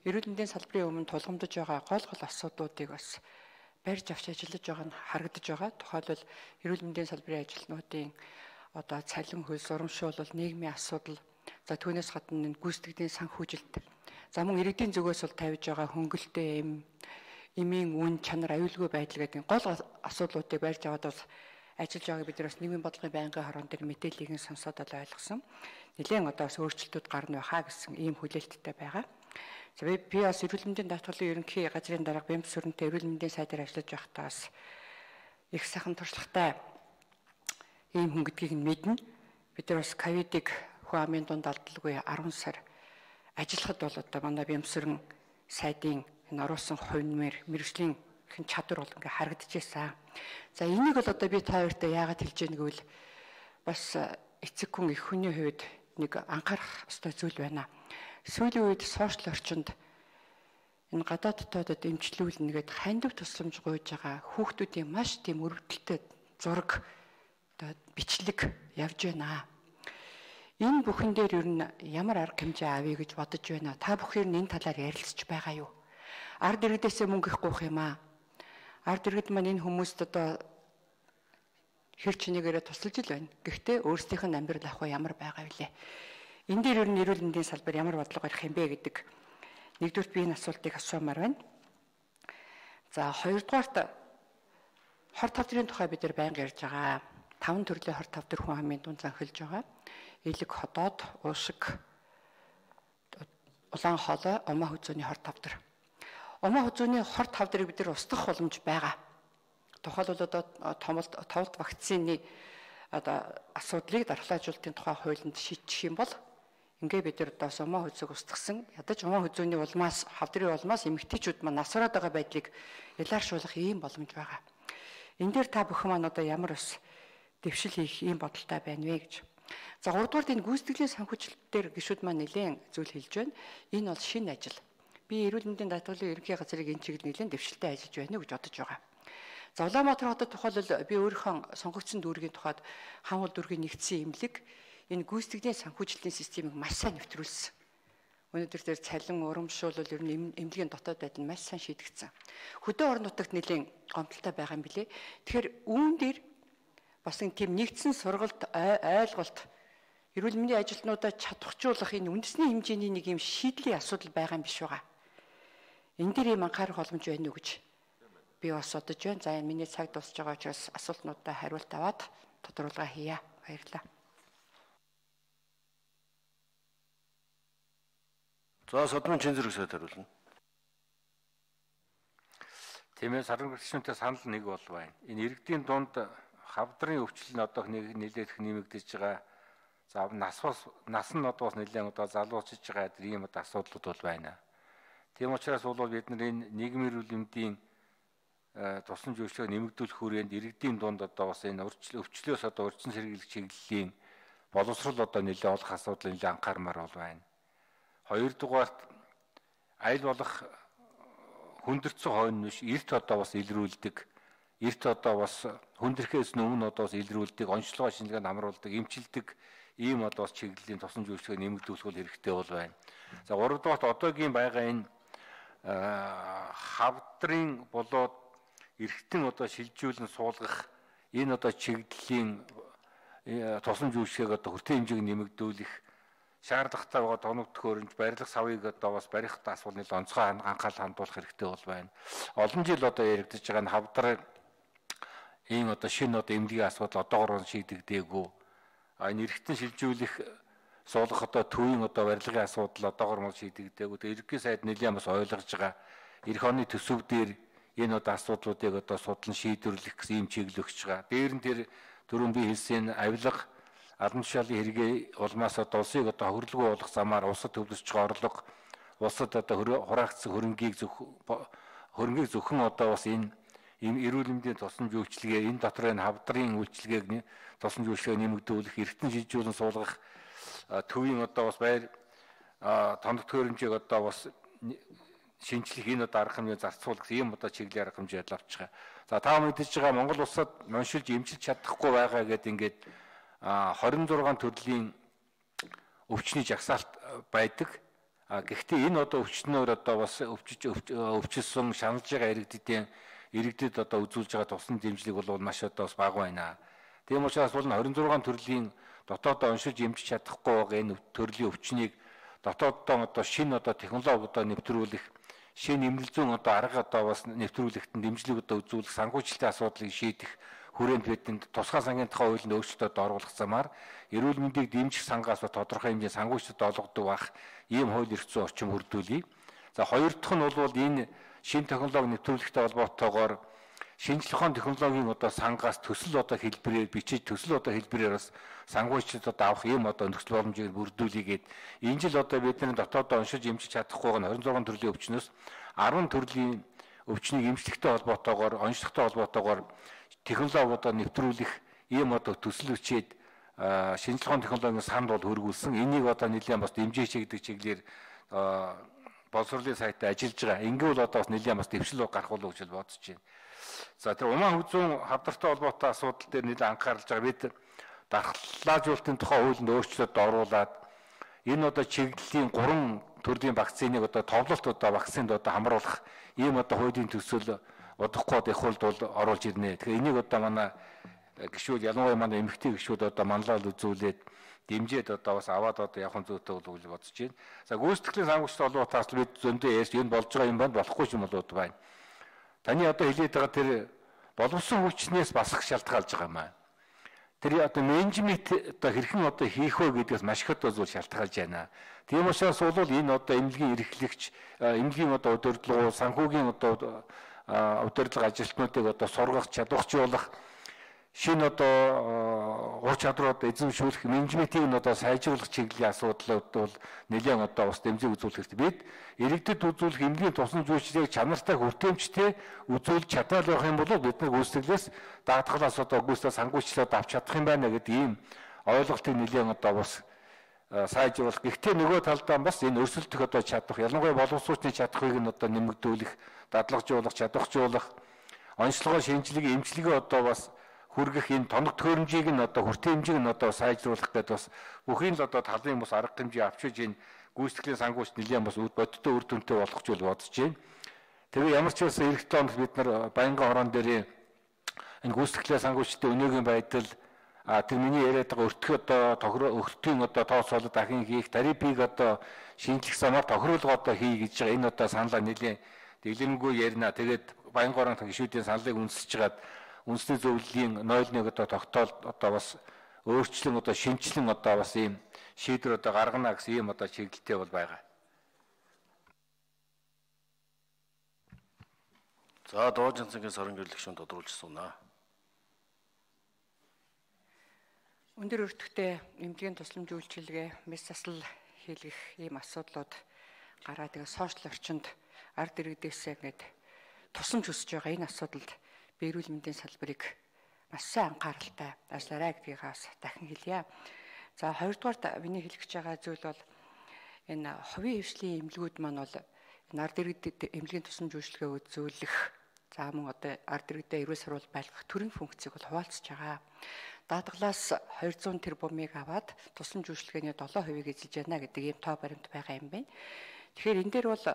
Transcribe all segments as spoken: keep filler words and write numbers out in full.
эрүүл мэндийн салбарын өмнө тулгамдж байгаа гол гол асуудлуудыг бас барьж авч ажиллаж байгаа нь харагдаж байгаа. Тухайлбал эрүүл мэндийн салбарын ажилтнуудын одоо цалин хөлс урамшуул нийгмийн асуудал, за түүнээс гадна гүйцэтгэлийн санхүүжилт, за мөн иргэдийн зүгээс бол тавьж байгаа хөнгөлтэй эм, эмийн үн чанар, аюулгүй байдал гэдэг гол асуудлуудыг барьж аваад бас ажиллаж байгааг бид нар бас нийгмийн бодлогын байнгын хорон дээр мэдээллийг нь сонсоод л ойлгосон. Нэлээд одоо бас өөрчлөлтүүд гарна байхаа гэсэн ийм хүлээлттэй байгаа. За би би бас эрүүл мэндийн даатгалын ерөнхий газрын дарга Бямс Сүрэнтэй эрүүл мэндийн сайдаар ажиллаж байхдаа бас их сайхан туршлагатай ийм хүн гэдгийг нь мэднэ. Бид нар бас ковидыг хүн амын дунд алдалгүй арван сар ажиллахад бол одоо манай Бямс Сүрэн сайдын энэ оруулсан хувьнмэр мэрэгжлийн хэн чадвар бол ингээ харагдчихсан. За энийг бол одоо би та хоёртой яагаад хэлж яаг гэвэл бас эцэг хүн их хүний хувьд нэг анхаарах ёстой зүйл байна. Сүүлийн үед сошиал орчинд энэ гадаад дотоодод эмчлүүлнэ гэдэг хандив тусламж гуйж байгаа хүүхдүүдийн маш тийм өрөвдөлтөд зураг одоо бичлэг явж байна. Энэ бүхэн дээр ер нь ямар арга хэмжээ авъя гэж бодож байна. Та бүхэн энэ талаар ярилцж байгаа юу? Ард иргэдээсээ мөнгө их гуйх юм аа. Ард иргэд маань энэ хүмүүст одоо хэр чинийгээрээ тусалж ил байна. Гэхдээ өөрсдийнх нь амьдрал ах ямар байгаа вэ? Энэ дээр ер нь эрүүл мэндийн салбар ямар бодлого барих юм бэ гэдэг нэгдүгээр би энэ асуултыг асуумаар байна. За хоёрдугаарт хор тавдрын тухай бид нар байнга ярьж байгаа. Таван төрлийн хор тавдар хүн амын дунд занхилж байгаа. Илэг ходоод, уушиг, улаан хоолой, умаа хүзүүний хор тавдар. Умаа хүзүүний хор тавдрыг бид нар устгах боломж байгаа. Тухайлбал одоо томолт товлт вакцины одоо асуудлыг дархлаажуулалтын тухай хуулинд шийдчих юм бол ингээ бид нар одоо умаа хүзүүг устгасан ядаж умаа хүзүүний улмаас хавдрын улмаас эмэгтэйчүүд маань насвараад байгаа байдлыг ялааршуулах ийм боломж байгаа. Энэ дээр та бүхэн маань одоо ямар ус дэвшил хийх ийм бодолтой байна вэ гэж. За гуравдугаар энэ гүйцэтгэлийн санхүүжилтээр гишүүд маань нэлээд зүйл хэлж байна. Энэ бол шинэ ажил. Би эрүүл мэндийн даатгалын ерөнхий газрыг энэ чиглэл нэлээд дэвшилтэй ажиллаж байна гэж бодож байгаа. За Улаанбаатар хотод тухайлбал би өөрийнхөө сонгогдсон дүүргийн тухайд хаанхул дүүргийн нэгдсэн имлэг энэ гүйцэтгэлийн санхүүжилтийн системийг маш сайн нэвтрүүлсэн. Өнөөдөр тэр цалин урамшуул ер нь эмнэлгийн дотоод байдал нь маш сайн шийдэгдсэн. Хөдөө орон нутагт нэлийн гомдолтой байгаа юм билэ. Тэгэхээр үүн дээр бас энэ тийм нэгдсэн сургалт ойлголт эрүүл мэндийн ажилтнуудаа чадваржуулах энэ үндэсний хэмжээний нэг юм шийдлийн асуудал байгаа юм биш байгаа. Энэ дээр юм анхаарах боломж байна уу гэж би бас бодож байна. За энэ миний цаг дуусж байгаа учраас асуултнуудаа хариулт аваад тодорхойлгоо хийе. Баярлалаа. За Содмын чин зэрэг сайд хариулна. Тийм ээ, саран гэрчнүүтэй санал нэг бол байна. Энэ иргэдийн дунд хавдрын өвчлөл нь одоо нэлээд их нэмэгдэж байгаа. За нас нас нь одоо бас нэлээд одоо залуучж байгаа ийм одоо асуудлууд бол байна. Тийм учраас бол бид нар энэ нийгмийн эрүүл мэндийн тусламж үйлчилгээг нэмэгдүүлэх хүрээнд иргэдийн дунд одоо бас энэ өвчлөөс одоо урьдчилан сэргийлэх чиглэлийн боловсрол одоо нэлээд олох асуудал нэлээд анхаармаар бол байна. Хоёрдугаарт аль болох хүндэрсэн хойно биш эрт одоо бас илрүүлдэг, эрт одоо бас хүндрэхээс өмнө одоо бас илрүүлдэг, онцлогоо шинжилгээнд амруулдаг, эмчилдэг ийм одоо бас чиглэлийн тусламж үйлчилгээг нэмэгдүүлэх бол хэрэгтэй бол байна. За гуравдугаарт одоогийн байгаа энэ хавдрын болоод эргэтэн одоо шилжүүлэн суулгах энэ одоо чиглэлийн тусламж үйлчилгээг одоо хүртээ хэмжээг нэмэгдүүлэх шаардлагатай байгаа тоног төхөөрөмж барилга савыг одоо бас барих тас бол нэл онцгой анхаарал хандуулах хэрэгтэй бол байна. Олон жил одоо яригдж байгаа нь хавдар ийм одоо шинэ одоо эмнэлгийн асуудал одоогоор шийдэгдээгүй. А энэ эргэтэн шилжүүлэх суулгах одоо төвийн одоо барилгын асуудал одоогоор шийдэгдээгүй. Тэгээ ерөнхий сайд нэлээд бас ойлгож байгаа. Эх оны төсөв дээр энэ одоо асуудлуудыг одоо судлан шийдвэрлэх гэсэн юм чиглэл өгч байгаа. Дээр нь тэр түрүүн би хэлсэн авилга албан тушаалын хэрэгээ улмаас одоо улсыг одоо хөрөлгөө болох замаар улсад төвлөрч байгаа орлого, улсад одоо хураагдсан хөрөнгийг зөв хөрөнгийг зөвхөн одоо бас энэ эрүүл мэндийн тусламж үйлчилгээ энэ дотор энэ хавдрын үйлчилгээг тусламж үйлчилгээ нэмэгдүүлэх, эргэтэн шилжүүлэн суулгах төвийн одоо бас байр тоног төхөөрөмжийг одоо бас шинжлэх энэ одоо арга хэмжээ зарцуулах ийм одоо чиглэлийн арга хэмжээ авч байгаа. За та мэдээж байгаа Монгол улсад ноншилж эмчилж чадахгүй байгаа гэдэг ингээд хорин зургаан төрлийн өвчний жагсаалт байдаг. А гэхдээ энэ одоо өвчнөөр одоо бас өвчж өвчсөн шаналж байгаа иргэдийн иргэдэд одоо үзүүлж байгаа тусан дэмжлэг бол маш одоо бас бага байна. Тийм учраас бол хорин зургаан төрлийн дотоодоо уншиж эмчиж чадахгүй байгаа энэ төрлийн өвчнийг дотооддоо одоо шинэ одоо технологи одоо нэвтрүүлэх, шинэ эмнэлэг зүүн одоо арга одоо бас нэвтрүүлэхэд дэмжлэг одоо үзүүлэх, санхүүжилтийн асуудлыг шийдэх хүрээнд бидэнд тусгай сангийн тухай хуулинд өөрчлөлтөд оруулах замаар эрүүл мэндийг дэмжих сангаас тодорхой хэмжээний санхүүжилт олгодог бах ийм хууль эрх зүйн орчин бүрдүүлье. За хоёр дахь нь бол энэ шинэ технологи нэвтрүүлэхтэй холбоотойгоор шинжлэх ухааны технологийн одоо сангаас төсөл одоо хэлбэрээр бичиж төсөл одоо хэлбэрээр бас санхүүжилт одоо авах ийм одоо нөхцөл боломжийг бүрдүүлээгээд энэ жил одоо бидний дотоодоо уншиж эмчиж чадахгүй байгаа хорин зургаан төрлийн өвчнөөс арван төрлийн өвчнийг эмчлэхтэй холбоотойгоор онцлогтой холбоотойгоор технологи одоо нэвтрүүлэх ийм одоо төсөл өчээд шинжлэх ухааны технологийн санд бол хөргүүлсэн. Энийг одоо нэлээд бас дэмжиж чигдэг чиглэлээр боловсролын сайтаа ажиллаж байгаа. Ингэвэл одоо бас нэлээд бас дэвшил гарах болов гэж бодож байна. За тэр Умаан хүзүүн хавдартай холбоотой асуудал дээр нэлээд анхааралж байгаа. Бид дархлаажуулалтын тухай хуулинд өөрчлөлт оруулаад энэ одоо чиглэлийн гурван төрлийн вакциныг одоо товлолт одоо вакцинд одоо хамруулах ийм одоо хуулийн төсөл удахгүй их хуульд бол оруулж ирнэ. Тэгэхээр энийг одоо манай гишүүд ялангуяа манай эмэгтэй гишүүд одоо манлал үзүүлээд дэмжиж одоо бас аваад одоо явах зүйтэй бол гэж бодож байна. За гүйцэтгэлийн санхүүжилт олбоотаас бид зөндөө ярьж энэ болж байгаа юм байна, болохгүй юм болоод байна. Таны одоо хэлээд байгаа тэр боловсон хүчнээс басах шалтгаалж байгаа юм аа. Тэр одоо менежмент одоо хэрхэн одоо хийх вэ гэдгээс маш их одоо зүйл шалтгаалж байна. Тийм учраас бол энэ одоо эмнэлгийн эрхлэгч, эмнэлгийн одоо удирдлага, санхүүгийн одоо удирдлага ажилтнуудыг одоо сургах, чадваржуулах, шинэ одоо ур чадрууд эзэмшүүлэх, менежментийг нь одоо сайжруулах чиглэлийн асуудлууд бол нэлээд одоо бас дэмжиж үзүүлэх хэрэгтэй. Бид иргэдэд үзүүлэх эмнэлгийн тусан зүйчлэлийг чанартай хүртээмжтэй үзүүлж чадвал байх юм бол бид нэг үүсгэлээс даатгалаас одоо гүйцэтгэл санхүүжилтөд авч чадах юм байна гэдэг ийм ойлголтыг нэлээд одоо бас сайжруулах. Гэхдээ нөгөө талдаа бас энэ өрсөлдөх одоо чадах, ялангуяа боловсруучны чадхыг нь одоо нэмэгдүүлэх, дадлагжуулах, чадваржуулах, онцлогоо шинжилгээ, эмчилгээ одоо бас хүргэх энэ тоног төхөөрөмжийг нь одоо хүртээмжийг нь одоо сайжруулах гэдэг бас бүхий л одоо талын бас арга хэмжээ авчиж энэ гүйцэтгэлийн санхүүжилт нэлээд бас бодиттой үр дүнтэй болох ч бол бодож байна. Тэгээ ямар ч байсан эх тоонд бид нар баянган хорон дээр энэ гүйцэтгэлийн санхүүжилтийн өнөөгийн байдал а тэр миний яриад байгаа өртгөх одоо тохироо өртгийн одоо тооцоолол дахин хийх, тарифыг одоо шинжлэх замаар тохируулга одоо хий гэж байгаа. Энэ одоо саналаа нэлээд дэглэмгүй ярина. Тэгээд баянган хорон гишүүдийн саналыг үнсэж хагаад үндэсний зөвлөлийн ноёл нэг одоо тогтоол одоо бас өөрчлөн одоо шинжилэн одоо бас ийм шийдвэр одоо гаргана гэсэн ийм одоо чиглэлтэй бол байгаа. За Дууж Цэнгийн сорон гэрлэх шин тодруулж сунаа. Өндөр өртөгтэй эмнэлгийн тусламж үйлчилгээ, мэс засал хийлгэх ийм асуудлууд гараад тэгээ сошиал орчинд ард иргэдээсээ ингээд тусламж өсөж байгаа энэ асуудалд би эрүүл мэндийн салбарыг маш сайн анхааралтай ажиллаарай гэдгийг бас дахин хэлье. За хоёрдугаар миний хэлэх гэж байгаа зүйл бол энэ хувийн хвшлийн эмнэлгүүд маань бол энэ ард иргэдэд эмнэлгийн тусламж үйлчилгээ үзүүлэх, за мөн одоо ард иргэдэд эрүүл сурвал байлгах төрийн функцийг бол хуваалцж байгаа. Даатгалаас хоёр зуун тэрбумыг аваад тусламж үйлчилгээний долоо хувийг эзэлж байна гэдэг ийм тоо баримт байгаа юм байна. Тэгэхээр энэ дээр бол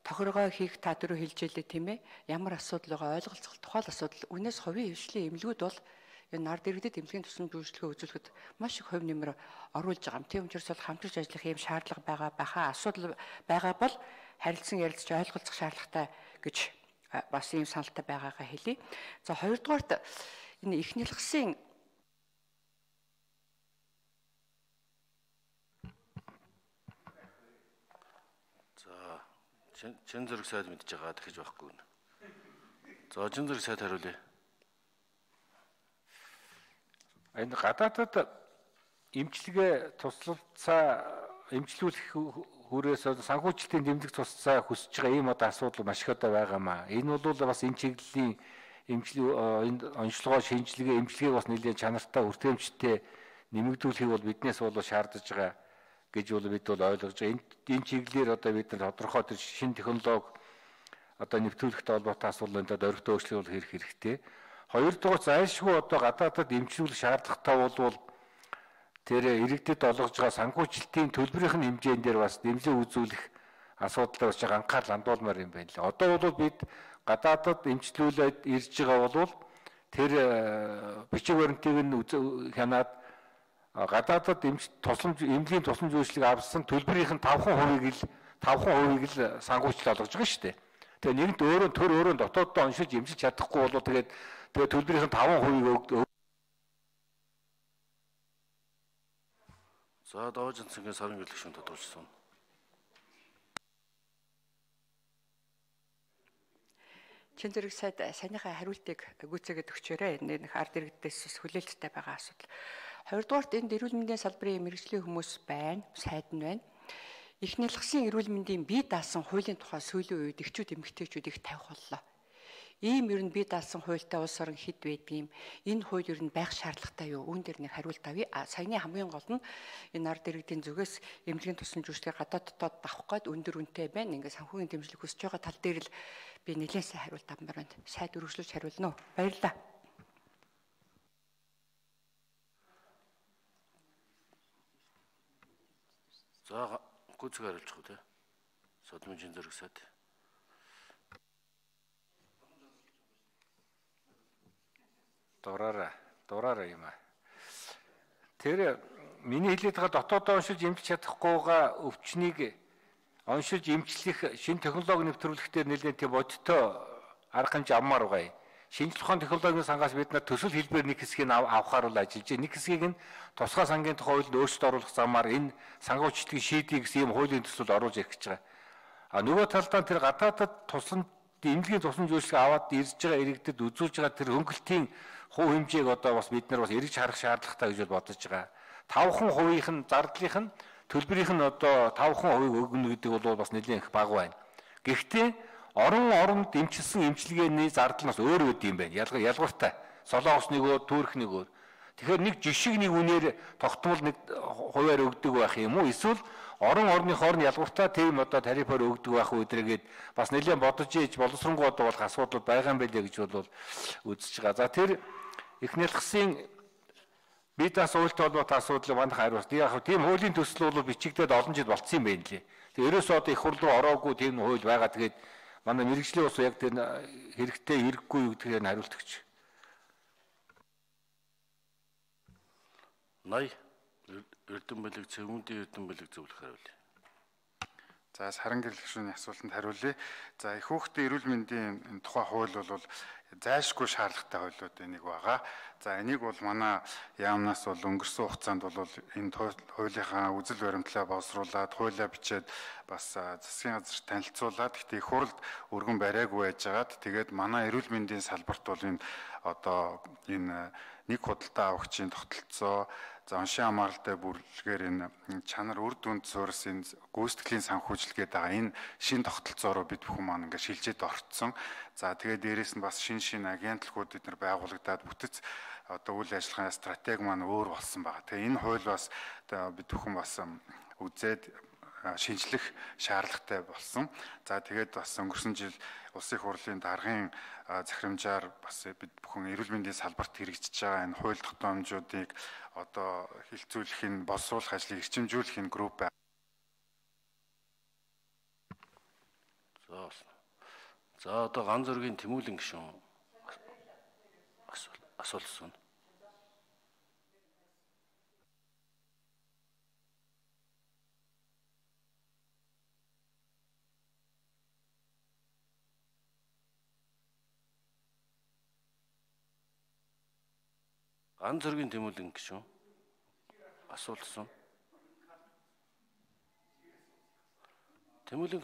тохиргоо хийх та дөрөв хэлж ялээ тийм ээ. Ямар асуудал байгаа ойлголцох тухайл асуудал. Үнээс хувийн хвшлийн эмнэлгүүд бол энэ ард иргэдэд эмнэлгийн тусламж үйлчилгээ үзүүлэхэд маш их хувь нэмэр оруулж байгаа юм. Тийм учраас бол хамтарч ажиллах ийм шаардлага байгаа байхаа асуудал байгаа бол харилцан ярилцж ойлголцох шаардлагатай гэж бас ийм саналтай байгаагаа хэлье. За хоёрдугаарт энэ их нэлгсэн чин зэрэг сайд мэдж байгаа дахиж байхгүй нэ. За чин зэрэг сайд хариулъя. Энэ гадаадад эмчилгээ туслалцаа эмчлүүлэх хүрээс санхүүжилтийн дэмжлэг тусцаа хүсэж байгаа ийм одоо асуудал маш их одоо байгаамаа. Энэ бол бас энэ чиглэлийн эмчилгээ онцлогоо шинжилгээ эмчилгээг бас нэлээд чанартай хүртээмжтэй нэмэгдүүлэхийг бол биднээс бол шаардж байгаа гэж бол бид бол ойлгож байгаа. Энэ чиглэлээр одоо бид нар тодорхой тэр шинэ технологи одоо нэвтрүүлэхтэй холбоотой асуудлуудад орхитой өөрчлөлт хийх хэрэгтэй. Хоёрдугаар зайлшгүй одоо гадаадад эмчилүүлэх шаардлагатай бол тэр иргэдэд олгож байгаа санхүүжилтийн төлбөрийн хэмжээнд дээр бас дэмжлэг үзүүлэх асуудал болж байгаа анхаарал хандуулмаар юм байна лээ. Одоо бол бид гадаадад эмчлүүлээд ирж байгаа бол тэр бичиг баримтыг нь хянаад гадаадад эмч тусламж эмнэлгийн тусламж үйлчлэг авсан төлбөрийн тавхан хувийг л тавхан хувийг л сангуучлал олгож байгаа шүү дээ. Тэгээ нэгэнт өөрөө төр өөрөө дотооддоо оншилж эмчилж чадахгүй болоо тэгээд тэгээ төлбөрийн тавхан хувийг өг. За Давж Цэнгийн сарын гэлэгшин тодорхойлсон. Чин зэрэг сайд саяныхаа хариултыг гүйцээгээд өгчөөрэй. Нэг ард иргэдээс хүлээлттэй байгаа асуудал. Хоёрдугаарт энд эрүүл мэндийн салбарын мэргэжлийн хүмүүс байна, сайд нь байна. Их нялгсан эрүүл мэндийн бие даасан хуулийн тухай сүүлийн үед эхчүүд эмэгтэйчүүд их тавих боллоо. Ийм ер нь бие даасан хуультай улс орон хэд байдгийм. Энэ хууль ер нь байх шаардлагатай юу? Үүн дээр нэг хариулт авъя. Саяны хамгийн гол нь энэ ард иргэдийн зүгээс эмнэлгийн тусламж үйлчлэгийг гадаад дотоод авах гээд өндөр үнэтэй байна. Ингээд санхүүгийн дэмжлэг хүсэж байгаа тал дээр л би нэлээд сайн хариулт авмаар байна. Сайд үргэлжлүүлж хариулна уу? Баярлалаа. За гүйцээг хариулчих уу те. Содмын зэрэг сайд. Дураараа, дураараа юм аа. Тэр миний хэлээд байгаа дотоодоо оншилж эмчилж чадахгүйгаа өвчнийг оншилж эмчлэх шинэ технологи нэвтрүүлэхдээ нэлээд тийм бодтой арга хэмжээ авмаар байгаа юм. Шинжлэх ухааны технологийн сангаас бид нар төсөл хэлбэр нэг хэсгийг авахаар бол ажиллаж байна. Нэг хэсгийг нь тусгай сангийн тухай хуулинд өөрчлөлт оруулах замаар энэ сангуучдын шийдийг ийм хуулийн төсөл оруулж ирэх гэж байгаа. А нөгөө талдаа тэр гадаадад тусламж эмнэлгийн тусламж үйлчлэг аваад ирж байгаа иргэдэд үзүүлж байгаа тэр хөнгөлтийн хувь хэмжээг одоо бас бид нар бас эргэж харах шаардлагатай гэж бодож байгаа. тавхан хувийнх нь зардлынх нь төлбөрийнх нь одоо тавхан хувийг өгнө гэдэг бол бас нэлээд их бага байна. Гэхдээ орон оронд дэмчилсэн эмчилгээний зардал нь бас өөр үд юм байна. Ялгар ялгартай. Солонгос нэг өөр, Турк нэг өөр. Тэгэхээр нэг жишг нэг үнээр тогтмол нэг хувиар өгдөг байх юм уу? Эсвэл орон орныхоор нь ялгартай тийм одоо тарифаар өгдөг байх үдрэгээд бас нэлээд бодож ийж боловсронгуй одоо болох асуудал байгаа юм байлээ гэж бол үзэж байгаа. За тэр их нялгсын бие даасан хуультай холбоотой асуудлыг манайх хариулт. Яг тийм хуулийн төсөл бол бичигдээд олон жил болцсон юм байна лээ. Тэгээ ерөөсөө одоо их хурл руу ороогүй тийм хууль байгаа. Тэгээд манай мэрэгжлийн ус яг тэр хэрэгтэй хэрэггүй юу гэдгээр нь хариулт өгч. Най Эрдэм бэлэг цэвүүндийн Эрдэм бэлэг зөвлөх хариулъя. За саран гэрлэгшүүний асуултанд хариулъя. За их хүүхдийн эрүүл мэндийн тухай хууль бол зайлшгүй шаардлагатай хуулиуд энийг байгаа. За энийг бол манай яамнаас бол өнгөрсөн хугацаанд бол энэ хуулийнхаа үзэл баримтлаа боловсруулад, хуулиа бичээд бас засгийн газар танилцуулаад гэхдээ их хурлд өргөн бариагүй байжгаад тэгээд манай эрүүл мэндийн салбарт бол энэ одоо энэ нэг худалдаа авахчийн тогтолцоо за оншин хамааралтай бүрэлдэхүүнээр энэ чанар үр дүнд суурс энэ гүйцэтгэлийн санхүүжилгээд байгаа энэ шин тогтолцоороо бид бүхэн маань ингээд шилжээд орцсон. За тэгээд дээрэс нь бас шин шин агентлагууд бид нар байгуулагдаад бүтэц одоо үйл ажиллагааны стратеги маань өөр болсон байгаа. Тэгээ энэ хууль бас бид бүхэн бас үзээд шинжлэх шаардлагатай болсон. За тэгээд бас өнгөрсөн жил улсын их хурлын даргын захирамжаар бас бид бүхэн эрүүл мэндийн салбарт хэрэгжиж байгаа энэ хууль тогтоомжуудыг одоо хилцүүлэх нь боловсруулах ажлыг эрчимжүүлэх энэ групп байна. За За одоо ганц зөргийн Тэмүүлэн гишүүн асуулсан. Ганц зөргийн Тэмүүлэн гишүүн асуулсан. Тэмүүлэн